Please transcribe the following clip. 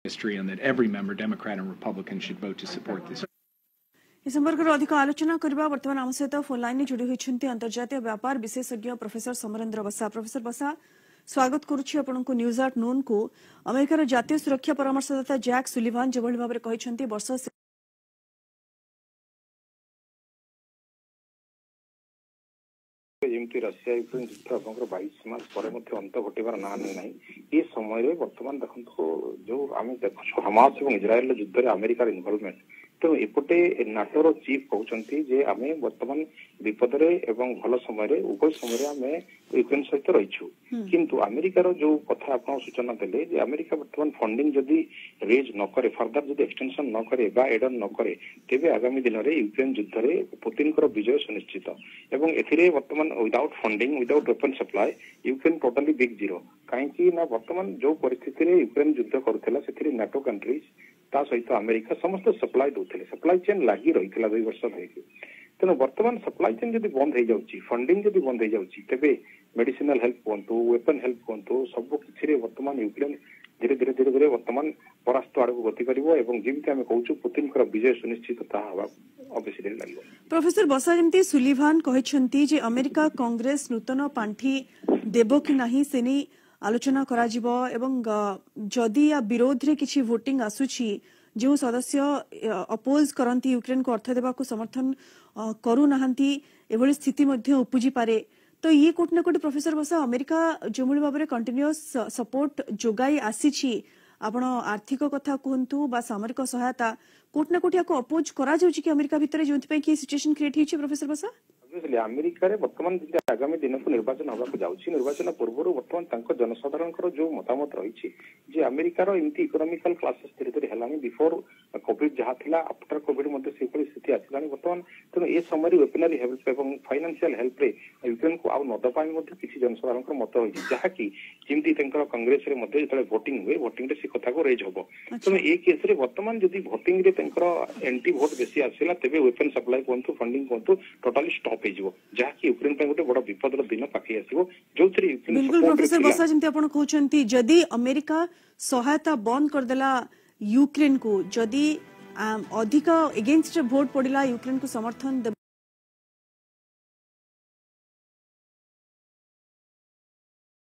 History and that every member, Democrat and Republican, should vote to support this. ଏ ସମ୍ପର୍କରେ ଅଧିକ ଆଲୋଚନା କରିବା। ବର୍ତ୍ତମାନ ଆମ ସହିତ ଫୋନ୍ ଲାଇନରେ ଯୋଡ଼ି ହୋଇଛନ୍ତି ଅନ୍ତର୍ଜାତୀୟ ବ୍ୟାପାର ବିଶେଷଜ୍ଞ ପ୍ରଫେସର ସମରେନ୍ଦ୍ର ବସା। ପ୍ରଫେସର ବସା, ସ୍ୱାଗତ କରୁଛି ଆପଣଙ୍କୁ ନ୍ୟୁଜ୍ ଆଟ୍ ନୁନ୍କୁ। ଆମେରିକାର ଜାତୀୟ ସୁରକ୍ଷା ପରାମର୍ଶଦାତା ଜ୍ୟାକ୍ ସୁଲିଭାନ ଯେଭଳି ଭାବରେ କହିଛନ୍ତି, ବର୍ଷ ଯେମିତି ରଷିଆ ୟୁକ୍ରେନ ଯୁଦ୍ଧ ଆପଣଙ୍କର 22 ମାସ ପରେ ମଧ୍ୟ ଅନ୍ତ ଘଟିବାର ନାଁ ନେଉନାହିଁ, ଏ ସମୟରେ ବର୍ତ୍ତମାନ ଦେଖନ୍ତୁ, ଯୋଉ ଆମେ ଦେଖୁଛୁ ହମାସ ଏବଂ ଇସ୍ରାଏଲର ଯୁଦ୍ଧରେ ଆମେରିକାର ଇନଭଲଭମେଣ୍ଟ। ତେଣୁ ଏପଟେ ନାଟୋର ଚିଫ୍ କହୁଛନ୍ତି ଯେ ଆମେ ବର୍ତ୍ତମାନ ବିପଦରେ ଏବଂ ଭଲ ସମୟରେ, ଉଭୟ ସମୟରେ ଆମେ ୟୁକ୍ରେନ ସହିତ ରହିଛୁ। କିନ୍ତୁ ଆମେରିକାର ଯୋଉ କଥା ଆପଣ ସୂଚନା ଦେଲେ ଯେ ଆମେରିକା ବର୍ତ୍ତମାନ ଫଣ୍ଡିଂ ଯଦି ରେଜ୍ ନ କରେ, ଫର୍ଦର ଯଦି ଏକ୍ସଟେନସନ ନ କରେ ବା ଏଡନ୍ ନ କରେ, ତେବେ ଆଗାମୀ ଦିନରେ ୟୁକ୍ରେନ ଯୁଦ୍ଧରେ ପୁତିନଙ୍କର ବିଜୟ ସୁନିଶ୍ଚିତ। ଏବଂ ଏଥିରେ ବର୍ତ୍ତମାନ without funding, without weapon supply, Ukraine totally big zero. କାହିଁକି ନା ବର୍ତ୍ତମାନ ଯୋଉ ପରିସ୍ଥିତିରେ ୟୁକ୍ରେନ ଯୁଦ୍ଧ କରୁଥିଲା, ସେଥିରେ ନାଟୋ କଣ୍ଟ୍ରିଜ, ତା ସହିତ ଆମେରିକା ସମସ୍ତେ ସପ୍ଲାଏ ଦଉଥିଲେ। ସପ୍ଲାଇ ଚେନ୍ ଲାଗି ରହିଥିଲା 2 ବର୍ଷ ଧରିକି। ତେଣୁ ବର୍ତ୍ତମାନ ସପ୍ଲାଇ ଚେନ୍ ଯଦି ବନ୍ଦ ହେଇଯାଉଛି, ଫଣ୍ଡିଂ ଯଦି ବନ୍ଦ ହେଇଯାଉଛି, ତେବେ ମେଡିସିନାଲ ହେଲ୍ପ କୁହନ୍ତୁ, ୱେପନ ହେଲ୍ପ କୁହନ୍ତୁ, ସବୁ କିଛିରେ ବର୍ତ୍ତମାନ ୟୁକ୍ରେନ ଧୀରେ ଧୀରେ ଧୀରେ ଧୀରେ ବର୍ତ୍ତମାନ ପରାସ୍ତ ଆଡକୁ ଗତି କରିବ ଏବଂ ଯେମିତି ଆମେ କହୁଛୁ ପୁତିନଙ୍କର ବିଜୟ ସୁନିଶ୍ଚିତ, ତାହା ହେବା ଅବେଶୀ ଡେରି ଲାଗିବ। ପ୍ରଫେସର ବସା, ଯେମିତି ସୁଲିଭାନ କହିଛନ୍ତି ଯେ ଆମେରିକା କଂଗ୍ରେସ ନୂତନ ପାଣ୍ଠି ଦେବ କି ନାହିଁ ସେ ନେଇ ଆଲୋଚନା କରାଯିବ ଏବଂ ଯଦି ୟା ବିରୋଧରେ କିଛି ଭୋଟିଂ ଆସୁଛି, ଯେଉଁ ସଦସ୍ୟ ଅପୋଜ କରନ୍ତି, ୟୁକ୍ରେନକୁ ଅର୍ଥ ଦେବାକୁ ସମର୍ଥନ କରୁନାହାନ୍ତି, ଏଭଳି ସ୍ଥିତି ମଧ୍ୟ ଉପୁଜିପାରେ। ତ ଇଏ କୋଉଠି ନା କୋଉଠି ପ୍ରଫେସର ବସା, ଆମେରିକା ଯେଉଁଭଳି ଭାବରେ କଣ୍ଟିନ୍ୟୁଅସ୍ ସପୋର୍ଟ ଯୋଗାଇ ଆସିଛି, ଆପଣ ଆର୍ଥିକ କଥା କୁହନ୍ତୁ ବା ସାମରିକ ସହାୟତା, କୋଉଠି ନା କୋଉଠି ୟାକୁ ଅପୋଜ କରାଯାଉଛି କି ଆମେରିକା ଭିତରେ, ଯେଉଁଥିପାଇଁ କି ସିଚୁଏସନ କ୍ରିଏଟ୍ ହେଇଛି ପ୍ରଫେସର ବସା? ଅବଭିୟସଲି, ଆମେରିକାରେ ବର୍ତ୍ତମାନ ଯେମିତି ଆଗାମୀ ଦିନକୁ ନିର୍ବାଚନ ହେବାକୁ ଯାଉଛି, ନିର୍ବାଚନ ପୂର୍ବରୁ ବର୍ତ୍ତମାନ ତାଙ୍କ ଜନସାଧାରଣଙ୍କର ଯୋଉ ମତାମତ ରହିଛି ଯେ ଆମେରିକାର ଏମିତି ଇକୋନୋମିକାଲ କ୍ରାଇସିସ୍ ଧୀରେ ଧୀରେ ହେଲାଣି, ବିଫୋର କୋଭିଡ ଯାହା ଥିଲା, ଆଫ୍ଟର କୋଭିଡ ମଧ୍ୟ ସେଭଳି ସ୍ଥିତି ଆସିଲାଣି ବର୍ତ୍ତମାନ। ତେଣୁ ଏ ସମୟରେ ୱେପନାରୀ ହେଲ୍ପ ଏବଂ ଫାଇନାନ୍ସିଆଲ ହେଲ୍ପରେ ୟୁକ୍ରେନକୁ ଆଉ ନ ଦେବା ପାଇଁ ମଧ୍ୟ କିଛି ଜନସାଧାରଣଙ୍କର ମତ ରହିଛି, ଯାହାକି ଯେମିତି ତାଙ୍କର କଂଗ୍ରେସରେ ମଧ୍ୟ ଯେତେବେଳେ ଭୋଟିଂ ହୁଏ, ଭୋଟିଂରେ ସେ କଥାକୁ ରେଜ୍ ହବ। ତେଣୁ ଏ କେସରେ ବର୍ତ୍ତମାନ ଯଦି ଭୋଟିଂରେ ତାଙ୍କର ଏଣ୍ଟି ଭୋଟ ବେଶୀ ଆସିଲା, ତେବେ ୱେପନ ସପ୍ଲାଏ କୁହନ୍ତୁ, ଫଣ୍ଡିଂ କୁହନ୍ତୁ, ଟୋଟାଲି ଷ୍ଟପ୍ ହେଇଯିବ, ଯାହାକି ୟୁକ୍ରେନ ପାଇଁ ଗୋଟେ ବଡ ବିପଦର ଦିନ ପାଖେଇ ଆସିବ, ଯୋଉଥିରେ ୟୁକ୍ରେନ ବିଲକୁଲ ସପୋର୍ଟରେ ପ୍ରଫେସର ଥିଲା। ବସା, ଯେମିତି ଆପଣ କହୁଛନ୍ତି, ଯଦି ଆମେରିକା ସହାୟତା ବନ୍ଦ କରିଦେଲା ୟୁକ୍ରେନକୁ, ଯଦି ଅଧିକ ଏଗେନଷ୍ଟ ଭୋଟ ପଡିଲା, ୟୁକ୍ରେନକୁ ସମର୍ଥନ ଦେବ